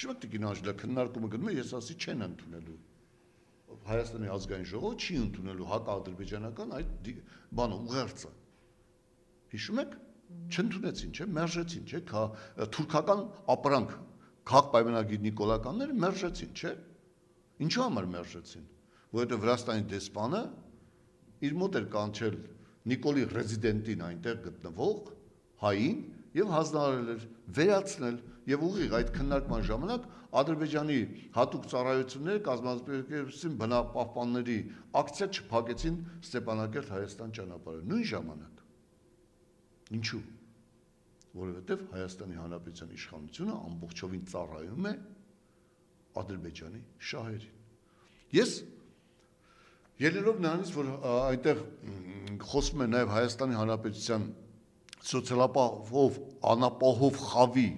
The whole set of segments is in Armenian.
Հիշում եք Տիկին Անժելա քննարկումը գնում է, ես ասի չեն ընդունելու։ Հայաստանի ազգային ժողովը չի ընդունելու հակաադրբեջանական այդ բանը ուղերձը։ Հիշում եք, չընդունեցին, չէ, մերժեցին, չէ, թուրքական ապրանք, քաղաք պայմանագիր նիկոլականները մերժեցին, չէ։ Ինչու համար մերժեցին։ Որովհետև Վրաստանի դեսպանը իր մոտ էր կանչել Նիկոլի ռեզիդենտին այնտեղ գտնվող հային եւ հանձնարարել էր վերացնել եւ ուղիղ այդ քննարկման ժամանակ Ադրբեջանի հատուկ ծառայությունները կազմակերպեցին բնապահպանների ակցիա չփակեցին Ստեփանակերտ Հայաստան ճանապարհը նույն ժամանակ։ Ինչու՞։ Որովհետև Հայաստանի Հանրապետության իշխանությունը ամբողջովին ծառայում է Ադրբեջանի շահերին։ Ես ելնելով նրանից, որ այնտեղ խոսում է նաև Հայաստանի Հանրապետության սոցիալապահով անապահով խավի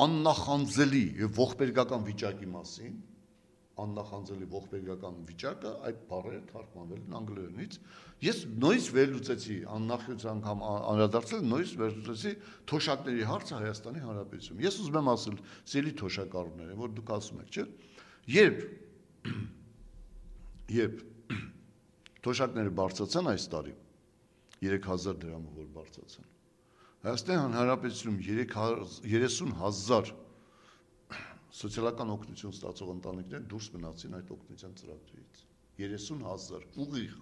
աննախանձելի եւ ողբերգական վիճակի մասին, աննախանձելի ողբերգական վիճակը այդ բառերը թարգմանվել են անգլերենից, ես նույնիսկ վերլուծեցի աննախից անգամ անդրադարձել, նույնիսկ վերլուծեցի թոշակների հարցը Հայաստանի Հանրապետությունում։ Ես ուզում եմ ասել, սիրելի թոշակառուներ, որ դուք ասում եք, չէ՞, երբ թոշակները բարձրացան այս տարի 3000 դրամը որ բարձրացան, Հայաստանի Հանրապետությունում 30,000 սոցիալական օգնություն ստացող ընտանիքներ դուրս մնացին այդ օգնության ծրագրից, 30,000 ուղիղ։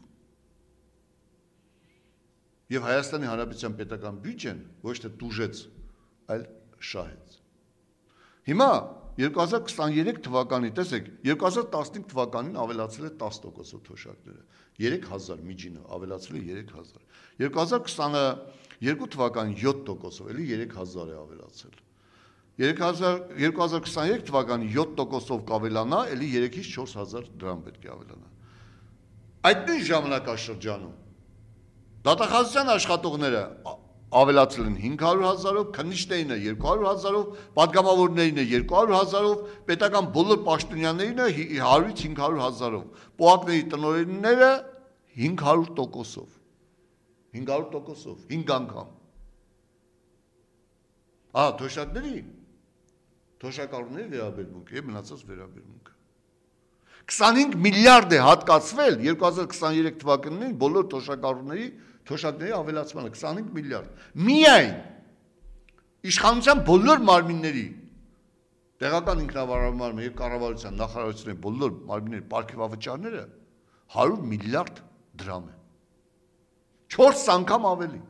Եվ Հայաստանի Հանրապետության պետական բյուջեն ոչ թե տուժեց, այլ շահեց։ Հիմա 2023 թվականի, տեսեք, 2015 թվականին ավելացել է 10% թոշակները, 3000 միջինը ավելացել է 3000, 2022 թվականին 7%-ով, էլի 3000 է ավելացել, 2023 թվականին 7%-ով կավելանա, էլի 3-ից 4000 դրամ պետք է ավելանա։ Այդ նույն ժամանակաշրջանում դատախազության աշխատողները ավելացել են 500,000-ով, քննիչներինը 200,000-ով, պատգամավորներինը 200,000-ով, պետական բոլոր պաշտոնյաներինը 100-ից 500,000-ով, պոակների տնօրենները 500%-ով, 500%-ով, 5 անգամ։ Թոշակների, թոշակառուների վերաբերմունքը եւ մնացած վերաբերմունքը։ 25 միլիարդ է հատկացվել 2023 թվականին բոլոր թոշակների ավելացմանը 25 միլիարդ։ Միայն իշխանության բոլոր մարմինների տեղական ինքնավարման եւ կառավարության նախարարությունների բոլոր մարմինների պարգևավճարները 100 միլիարդ դրամ է։ 4 անգամ ավելի։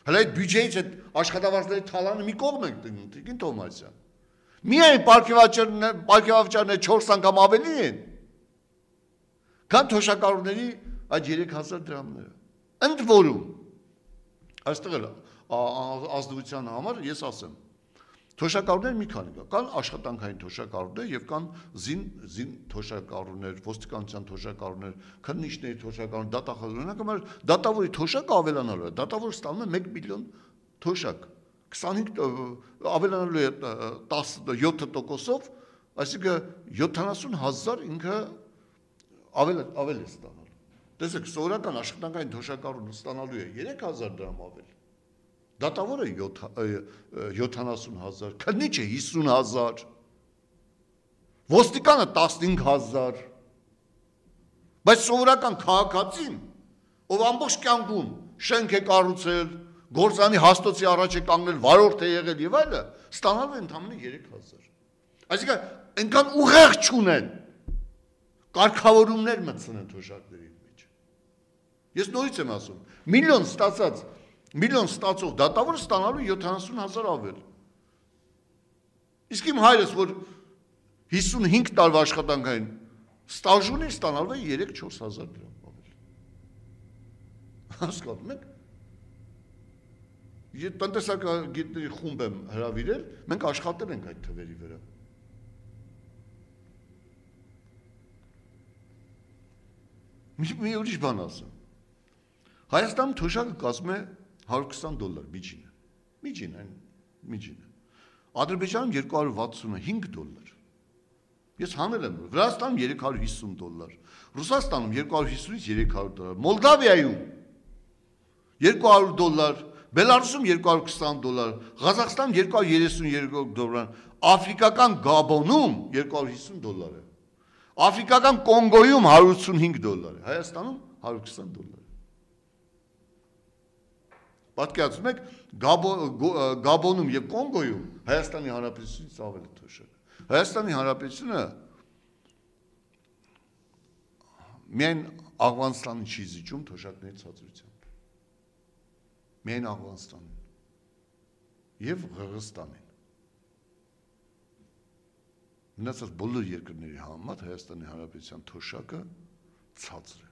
Հələ այդ բյուջեից այդ աշխատավարձների թալանը մի կողմ ենք Տիկին Թոմասյան։ Միայն պարգևավճարները 4 անգամ ավելի են, քան թոշակառուների այդ 3000 դրամները։ Ընդ որում, այստեղ էլ ազնվության համար ես ասեմ, թոշակառուներ մի քանի կան աշխատանքային թոշակառուներ եւ կան զին թոշակառուներ, ոստիկանության թոշակառուներ, քննիչների թոշակառուներ, դատախազորներ, դատավորի թոշակը ավելանալու է, դատավորը ստանում է 1 միլիոն թոշակ, 25 ավելանալու է 17%-ով, այսինքն 70,000 ինքը ավել է ստանալու։ Տեսեք, սովորական աշխատանքային թոշակառուն ստանալու է 3000 դրամ ավել։ Դատավորը 70,000, քննիչը 50,000, ոստիկանը 15,000, բայց սովորական քաղաքացին, ով ամբողջ կյանքում շենք է կառուցել, գործանի հաստոցի առաջ է կանգնել, վարորդ է եղել եւ այլը, ստանալու է ընդամենը 3000։ Այսինքն այնքան ուղեղ չունեն կարգավորումներ մտցնեն թոշակների մեջ։ Ես նորից եմ ասում, միլիոն ստացող դատավորը ստանալու 70,000 ավել։ Իսկ իմ հայրս, որ 55 տարվա աշխատանքային ստաժ ունի, ստանալու է 3-4,000 դրամ ավել։ Հասկանում եք։ Ես տնտեսագետների խումբ եմ հրավիրել, մենք աշխատել ենք այդ թվերի վրա։ Մի ուրիշ բան ասեմ։ Հայաստանում թոշակը կազմում է $120 միջինը։ Ադրբեջանում $265։ Ես հանել եմ, Վրաստանում $350, Ռուսաստանում $250-ից $300, Մոլդավիայում $200, Բելարուսում 220 դոլար, Ղազախստանում 232 դոլար, Աֆրիկական Գաբոնում 250 դոլար է, Աֆրիկական Կոնգոյում 185 դոլար է, Հայաստանում 120 դոլար է։ Պատկերացնում եք, Գաբոնում և Կոնգոյում Հայաստանի Հանրապետությունից ավելի թոշակ է։ Հայաստանի Հանրապետությունը միայն Աղվանստանին չի զիջում թոշակների ցածրությամբ։ Միայն Աղվանստանին և Ղրղստանին։ Մնացած բոլոր երկրների համեմատ Հայաստանի Հանրապետության թոշակը ցածր է։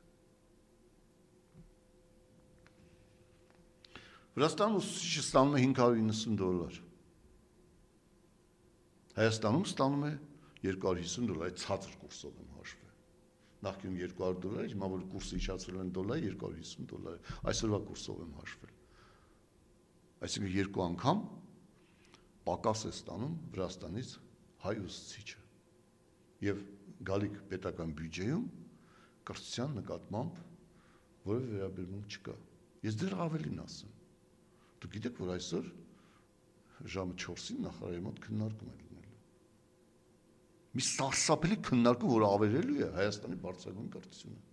Վրաստանում ուսուցիչը ստանում է 590 դոլար։ Հայաստանում ստանում է 250 դոլար, ցածր կուրսով եմ հաշվել։ Նախկինում 200 դոլար, հիմա որ կուրսը իջացրել են դոլար, 250 դոլար, այսօրվա կուրսով եմ հաշվել։ Այսինքն երկու անգամ պակաս է ստանում Վրաստանից հայ ուսուցիչը։ Եվ գալիք պետական բյուջեում կրթության նկատմամբ որևէ վերաբերմունք չկա։ Ես դեռ ավելին ասեմ։ Դուք գիտեք, որ այսօր ժամը 4-ին նախարարի մոտ քննարկում է լինելու։ Մի սարսափելի քննարկում, որ ավերելու է Հայաստանի բարձրագույն կրթությունը։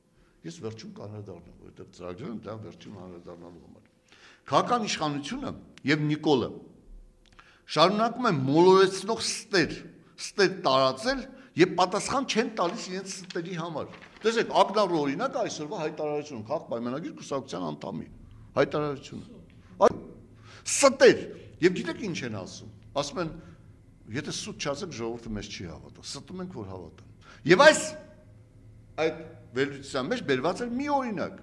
Ես վերջում կանրադառնամ, որովհետև ծրագրել եմ դա վերջում կանրադառնալու համար։ Քաղաքական իշխանությունը եւ Նիկոլը շարունակում են մոլորեցնող ստեր տարածել եւ պատասխան չեն տալիս իրենց ստերի համար։ Տեսեք, ակնառու օրինակ այսօրվա հայտարարությունը, քաղաք պայմանագիր կուսակցության անդամի հայտարարությունը։ Ստեր, եւ գիտեք ինչ են ասում։ Ասում են, եթե սուտ չասեք, ժողովուրդը մեզ չի հավատա։ Ստում ենք, որ հավատան։ Եվ այդ վերլուծության մեջ բերված էր մի օրինակ։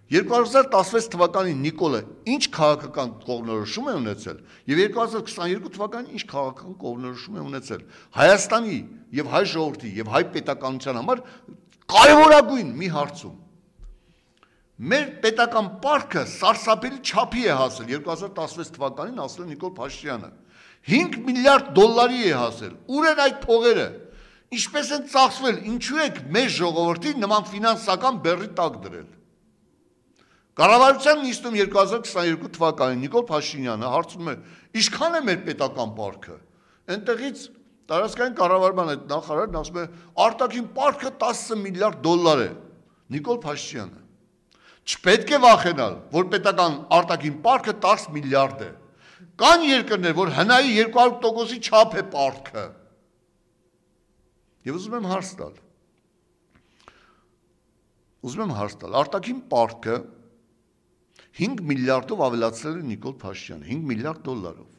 2016 թվականին Նիկոլը ինչ քաղաքական կողմնորոշում է ունեցել եւ 2022 թվականին ինչ քաղաքական կողմնորոշում է ունեցել Հայաստանի եւ հայ ժողովրդի եւ հայ պետականության համար կարևորագույն մի հարցում։ Մեր պետական պարտքը սարսափելի չափի է հասել 2016 թվականին ասել է Նիկոլ Փաշինյանը 5 միլիարդ դոլարի է հասել։ Ուր են այդ փողերը։ Ինչպես են ծախսվել, ինչու եք մեր ժողովրդին նման ֆինանսական բեռի տակ դրել։ Կառավարության նիստում 2022 թվականին Նիկոլ Փաշինյանը հարցնում է. «Ինչքան է մեր պետական պարտքը»։ Այնտեղից տարածքային կառավարման այդ նախարարն ասում է. «Արտաքին պարտքը 10 միլիարդ դոլար է»։ Նիկոլ Փաշինյանը. «Չպետք է վախենալ, որ պետական արտաքին պարտքը 10 միլիարդ է։ Կան երկրներ, որ հնայի 200%-ի չափ է պարտքը»։ Եվ ուզում եմ հարց տալ, արտաքին պարտքը 5 միլիարդով ավելացրել է Նիկոլ Փաշինյանը, 5 միլիարդ դոլարով։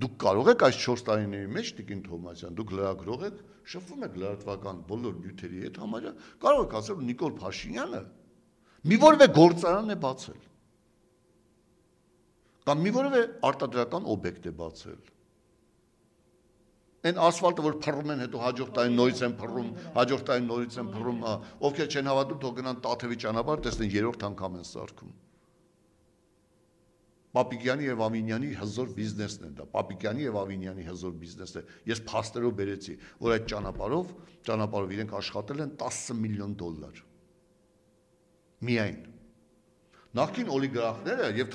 Դուք կարող եք այս 4 տարիների մեջ, Տիկին Թովմասյան, դուք լրագրող եք, շփվում եք լրատվական բոլոր նյութերի հետ համարյա, կարող եք ասել, որ Նիկոլ Փաշինյանը մի որևէ գործարան է բացել։ Կամ մի որևէ արտադրական օբյեկտ է բացել։ Այն ասֆալտը, որ փռում են, հետո հաջորդ տարի նորից են փռում, ովքեր չեն հավատում, թող գնան Տաթևի ճանապարհ, տեսնեն երրորդ անգամ են սարքում։ Պապիկյանի եւ Ավինյանի հզոր բիզնեսն է դա, Պապիկյանի եւ Ավինյանի հզոր բիզնեսն է։ Ես փաստերով բերեցի, որ այդ ճանապարհով իրենք աշխատել են 10 միլիոն դոլար։ Միայն։ Նախկին օլիգարխները եւ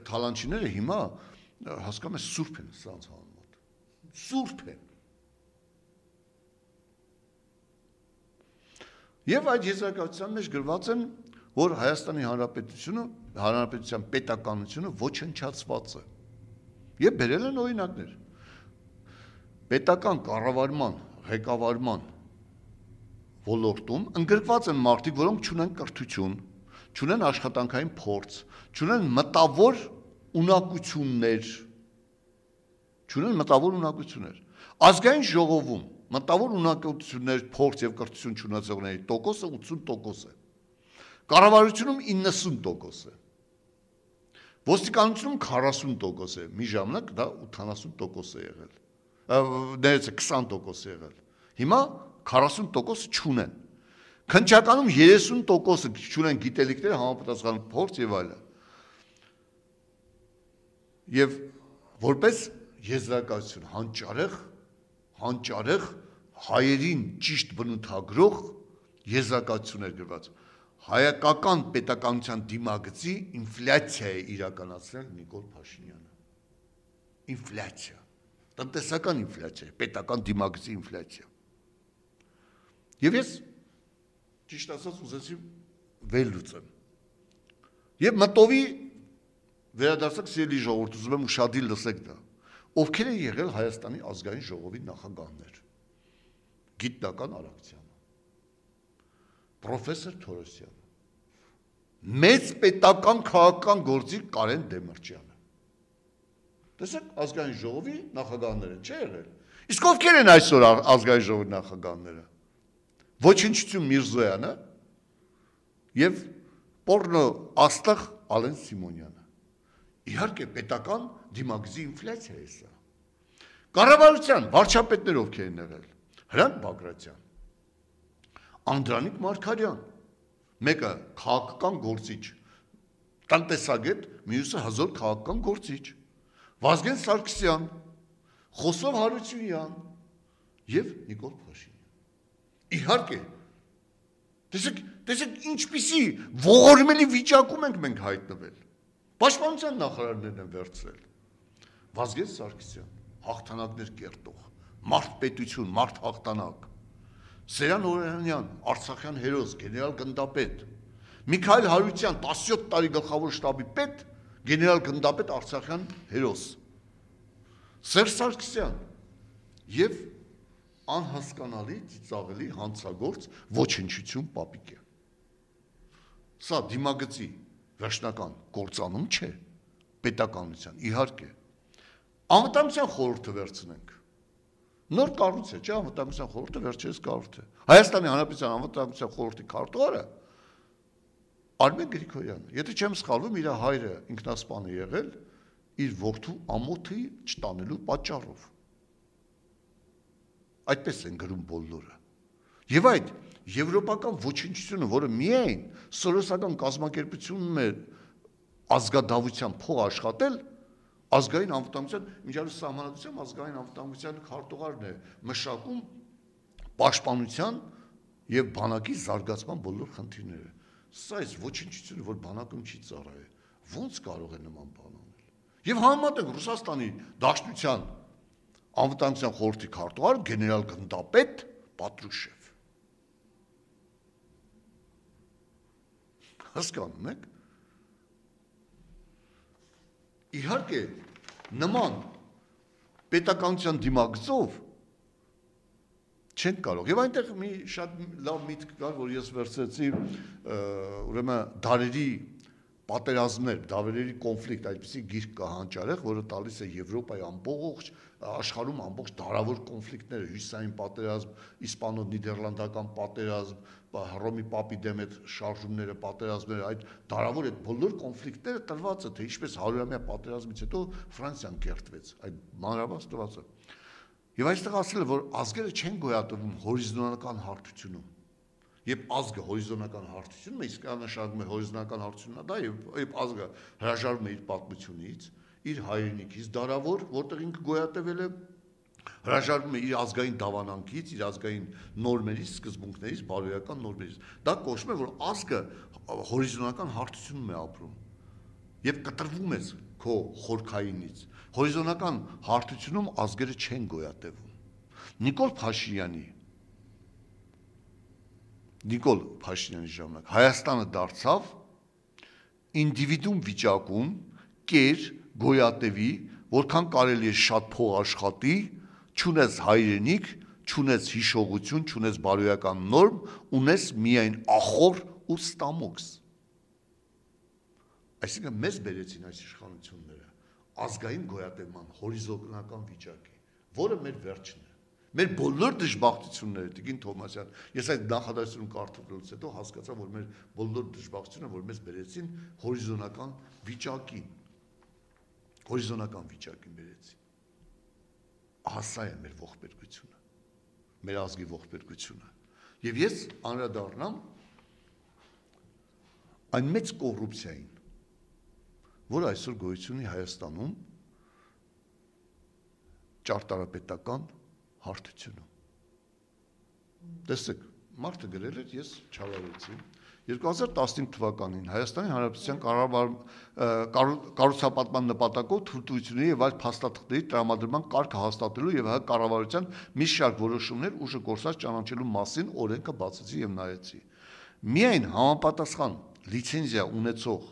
թալանչիները հիմա հասկանում ես սուրբ են սրանց համեմատ։ Սուրբ են։ Եվ այդ եզրակացության մեջ գրված են, որ Հայաստանի Հանրապետության պետականությունը ոչնչացված է։ Եվ բերել են օրինակներ։ Պետական կառավարման, ղեկավարման ոլորտում ընդգրկված են մարդիկ, որոնք չունեն կրթություն, չունեն աշխատանքային փորձ, չունեն մտավոր ունակություններ։ Ազգային ժողովում մտավոր ունակություններ, փորձ եւ կրթություն չունեցողների տոկոսը 80% է։ Կառավարությունում 90% է։ Ոստիկանությունում 40% է։ Մի ժամանակ դա 80% է եղել։ Ներեցեք 20% է եղել։ Հիմա 40% չունեն։ Քննչականում 30% չունեն գիտելիքներ, համապատասխան փորձ եւ այլն։ Եվ որպես եզրակացություն հանճարեղ հայերին ճիշտ բնութագրող եզրակացություններ գրված։ հայկական պետականության դիմագծի ինֆլյացիա է իրականացրել Նիկոլ Փաշինյանը։ Ինֆլյացիա, տնտեսական ինֆլյացիա, պետական դիմագծի ինֆլյացիա։ Եվ ես ճիշտ ասած ուզեցի վերլուծեմ։ Եվ մտովի վերադարձակ սիրելի ժողովուրդ, ուզում եմ ուշադիր լսեք դա։ Ովքեր են եղել Հայաստանի ազգային ժողովի նախագահներ։ Գիտնական Արաքսյանը, պրոֆեսոր Թորոսյանը, մեծ պետական քաղաքական գործիք Կարեն Դեմիրճյանը։ Տեսեք, ազգային ժողովի նախագահներ են, չէ՞ եղել։ Իսկ ովքեր են այսօր ազգային ժողովի նախագահները։ Ոչնչություն Միրզոյանը եւ պորնո աստղ Ալեն Սիմոնյանը։ Իհարկե պետական դիմագծի ինֆլյացիա է սա։ Կառավարության վարչապետներ ովքեր են եղել։ Հրանտ Բագրատյան, Անդրանիկ Մարգարյան, մեկը քաղաքական գործիչ, տնտեսագետ, մյուսը հզոր քաղաքական գործիչ, Վազգեն Սարգսյան, Խոսով Հարությունյան եւ Նիկոլ Փաշինյան։ Իհարկե, տեսեք ինչպիսի ողորմելի վիճակում ենք մենք հայտնվել։ Պաշտպանության նախարարներն են վերցրել։ Վազգեն Սարգսյան, հաղթանակներ կերտող, մարդ-պետություն, մարդ-հաղթանակ։ Սերան Օրյանյան, Արցախյան հերոս, գեներալ գնդապետ, Միքայել Հարության 17 տարի գլխավոր շտաբի պետ, գեներալ գնդապետ Արցախյան հերոս, Սերժ Սարգսյան եւ անհասկանալի ծիծաղելի հանցագործ ոչնչություն Պապիկյան։ Սա դիմագծի վերջնական կործանում չէ, պետականության, իհարկե։ Անվտանգության խորհուրդը վերցնենք։ Նոր կառույց է, չէ՞, անվտանգության խորհուրդը վերջերս կառույց է։ Հայաստանի Հանրապետության անվտանգության խորհրդի քարտուղարը Արմեն Գրիգորյանն, եթե չեմ սխալվում, իր հայրը ինքնասպան է եղել իր որդու ամոթի չտանելու պատճառով։ Այդպես են գրում բոլորը։ Եվ այդ եվրոպական ոչնչությունը, որը միայն սորոսական կազմակերպությունում է ազգադավության փող աշխատել, ազգային անվտանգության, միջազգային սահմանադրությամբ ազգային անվտանգության քարտուղարն է մշակում պաշտպանության եւ բանակի զարգացման բոլոր խնդիրները։ Սա այս ոչնչությունը, որ բանակում չի ծառայել, ո՞նց կարող է նման բան անել։ Եվ համեմատենք Ռուսաստանի Դաշնության անվտանգության խորհրդի քարտուղար գեներալ գնդապետ Պատրուշև։ Հասկանում եք։ Իհարկե, նման պետականության դիմագծով չեն կարող։ Եվ այնտեղ մի շատ լավ միտք կար, որ ես վերցրեցի, ուրեմն դարերի պատերազմներ, դավերերի կոնֆլիկտ, այդպիսի գիրք կա հանճարեղ, որը տալիս է Եվրոպայի ամբողջ աշխարհում ամբողջ դարավոր կոնֆլիկտները, հյուսիսային պատերազմ, իսպանո-նիդերլանդական պատերազմ, Հռոմի Պապի դեմ այդ շարժումները, պատերազմները, այդ դարավոր այդ բոլոր կոնֆլիկտները տրված է, թե ինչպես 100-ամյա պատերազմից հետո Ֆրանսիան կերտվեց, այդ մանրամասն տրված է։ Եվ այստեղ ասել է, որ ազգերը չեն գոյատևում հորիզոնական հարթությունում։ Երբ ազգը հորիզոնական հարթությունում է, իսկ նշանակում է հորիզոնական հարթությունն է դա, եւ ազգը հրաժարվում է իր պատմությունից, իր հայրենիքից, դարավոր, որտեղ ինքը գոյատևել է, հրաժարվում է իր ազգային դավանանքից, իր ազգային նորմերից, սկզբունքներից, բարոյական նորմերից։ Դա կոչվում է, որ ազգը հորիզոնական հարթությունում է ապրում եւ կտրվում է քո խորքայինից։ Հորիզոնական հարթությունում ազգերը չեն գոյատևում։ Նիկոլ Փաշինյանի ժամանակ Հայաստանը դարձավ ինդիվիդուում վիճակում, կեր, գոյատևի, որքան կարելի է շատ փող աշխատի, չունես հայրենիք, չունես հիշողություն, չունես բարոյական նորմ, ունես միայն ախոր ու ստամոքս։ Այսինքն մեզ բերեցին այս իշխանությունները ազգային գոյատևման հորիզոնական վիճակի, որը մեր վերջն է։ Մեր բոլոր դժբախտությունները, Տիկին Թովմասյան, ես այդ նախադասությունը կարդալուց հետո հասկացա, որ մեր բոլոր դժբախտությունները, որ մեզ բերեցին հորիզոնական վիճակին բերեցին։ Հասա է մեր ողբերգությունը, մեր ազգի ողբերգությունը։ Եվ ես անդրադառնամ այն մեծ կոռուպցիային, որ այսօր գոյություն ունի Հայաստանում ճարտարապետական հարթությունում։ Տեսեք, մարդը գրել էր, ես չավարեցի, 2015 թվականին Հայաստանի Հանրապետության կառուցապատման նպատակով թույլտվությունների եւ այլ փաստաթղթերի տրամադրման կարգը հաստատելու եւ հայ կառավարության մի շարք որոշումներ ուժը գործած ճանաչելու մասին օրենքը բացեցի եւ նայեցի։ Միայն համապատասխան լիցենզիա ունեցող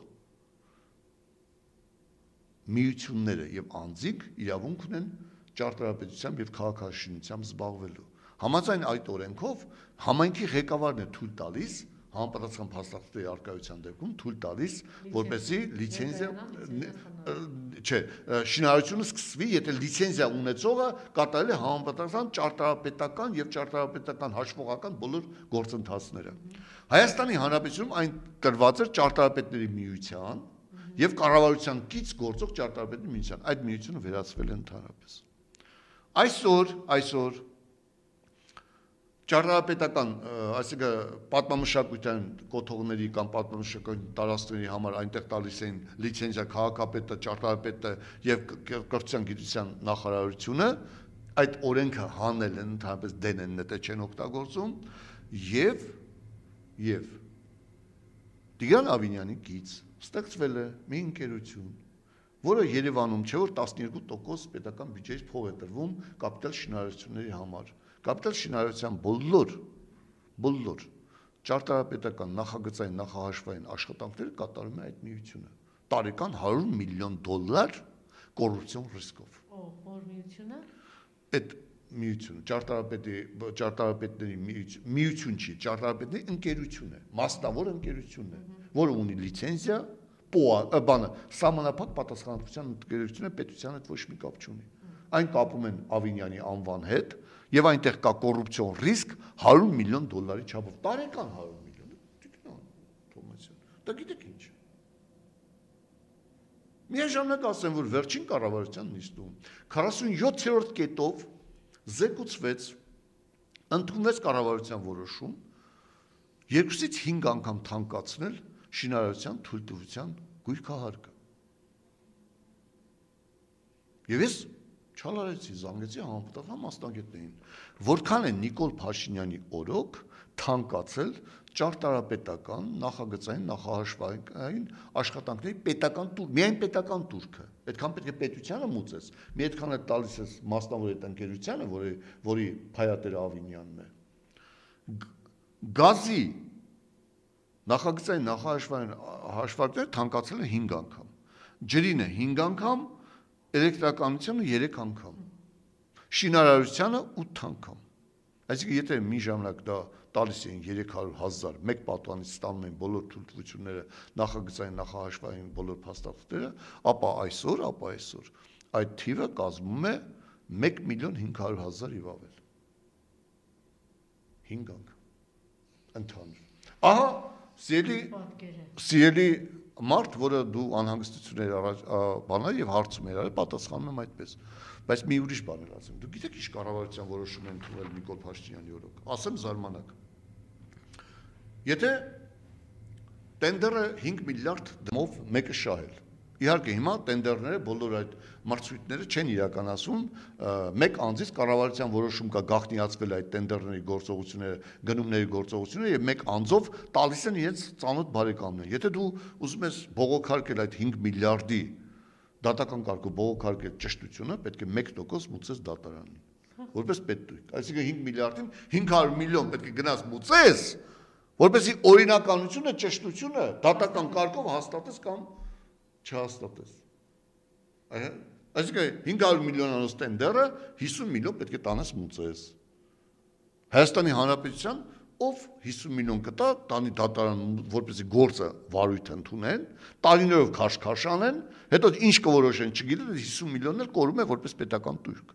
միությունները եւ անձիկ իրավունք ունեն ճարտարապետությամբ եւ քաղաքաշինությամբ զբաղվելու։ Համաձայն այդ օրենքով համայնքի ղեկավարն է թույլ տալիս համապատասխան փաստաթղթերի արկայության դեպքում թույլ տալիս, որպեսզի լիցենզիա չէ, շինարարությունը սկսվի, եթե լիցենզիա ունեցողը կատարել է համապատասխան ճարտարապետական եւ ճարտարապետական հաշվողական բոլոր գործընթացները։ Հայաստանի Հանրապետությունում այն տրված էր ճարտարապետների միության եւ կառավարության կից գործող ճարտարապետների միության։ Այդ միությունը վերածվել է ընդհանրապես։ Այսօր ճարտարապետական, այսինքն պատմամշակութային կոթողների կամ պատմամշակութային տարածքների համար այնտեղ տալիս էին լիցենզիա քաղաքապետը, ճարտարապետը եւ կրթության գիտության նախարարությունը, այդ օրենքը հանել են, ընդհանրապես դեն են, նետե չեն օգտագործում եւ Տիգրան Ավինյանի կից ստեղծվել է մի ընկերություն, որը Երևանում չէ, որ 12% պետական բյուջեից փող է տրվում կապիտալ շինարարությունների համար։ Կապիտալ շինարարության բոլոր ճարտարապետական նախագծային նախահաշվային աշխատանքները կատարում է այդ միությունը։ Տարեկան $100 միլիոն կոռուպցիոն ռիսկով։ Որ միությունը։ Այդ միությունը ճարտարապետների միություն չի, ճարտարապետների ընկերություն է, մասնավոր ընկերություն է, որը ունի լիցենզիա, սահմանափակ պատասխանատվության ընկերություն է, պետության հետ ոչ մի կապ չունի։ Այն կապում են Ավինյանի անվան հետ եւ այնտեղ կա կոռուպցիոն ռիսկ $100 միլիոն չափով, տարեկան $100 միլիոն։ Թոմասյան, դա գիտեք ինչ։ Միաժամանակ ասեմ, որ վերջին կառավարության նիստում 47-րդ կետով զեկուցվեց, ընդունվեց կառավարության որոշում 2-ից 5 անգամ թանկացնել շինարարության թույլտվության գույքահարկը։ Եվ ես չալարեցի, զանգեցի համապատասխան մասնագետներին, որքան է Նիկոլ Փաշինյանի օրոք թանկացել ճարտարապետական, նախագծային, նախահաշվային աշխատանքների պետական տուր, միայն պետական տուրքը։ Այդքան պետք է պետությանը մուծես, մի այդքան է տալիս ես մասնավոր այդ ընկերությանը, որի փայատերը Ավինյանն է։ Գազի նախագծային, նախահաշվային հաշվարկները թանկացել են 5 անգամ։ Ջրինը 5 անգամ, էլեկտրականությունը 3 անգամ, շինարարությանը 8 անգամ։ Այսինքն եթե մի ժամանակ դա տալիս էին 300,000, մեկ պատուհանից ստանում էին բոլոր թույլտվությունները, նախագծային, նախահաշվային բոլոր փաստաթղթերը, ապա այսօր այդ թիվը կազմում է 1,500,000 եւ ավել։ 5 անգամ։ Ընդհանուր։ Ահա սիրելի մարդ, որը դու անհանգստություններ բաներ եւ հարցում էր, պատասխանում եմ այդպես, բայց մի ուրիշ բան էլ ասեմ։ Դու գիտեք ինչ կառավարության որոշում են ընդունել Նիկոլ Փաշինյանի օրոք։ Ասեմ զարմանակ։ Եթե տենդերը 5 միլիարդ դրամով մեկը շահել։ Իհարկե հիմա տենդերները բոլոր այդ մրցույթները չեն իրականացում, մեկ անձից կառավարության որոշում կա գաղտնիացվել այդ տենդերների գործողությունները, գնումների գործողությունները եւ մեկ անձով տալիս են իրենց ծանոթ բարեկամներ։ Եթե դու ուզում ես բողոքարկել այդ 5 միլիարդի դատական կարգով բողոքարկել ճշտությունը, պետք է 1% մուծես դատարանին, որպես պետույթ։ Այսինքն 5 միլիարդին 500 միլիոն պետք է գնաս մուծես, որպեսզի օրինականությունը, ճշտությունը դատական կարգով հաստատես կամ չհաստատես։ Այսինքն 500 միլիոնանոց տենդերը 50 միլիոն պետք է տանես մուծես։ Հայաստանի Հանրապետության ով 50 միլիոն կտա, տանի դատարան, որպեսզի գործը վարույթ ընդունեն, տարիներով քաշքաշ անեն, հետո ինչ կորոշեն, չգիտեն, 50 միլիոնն էլ կորում է որպես պետական տուրք։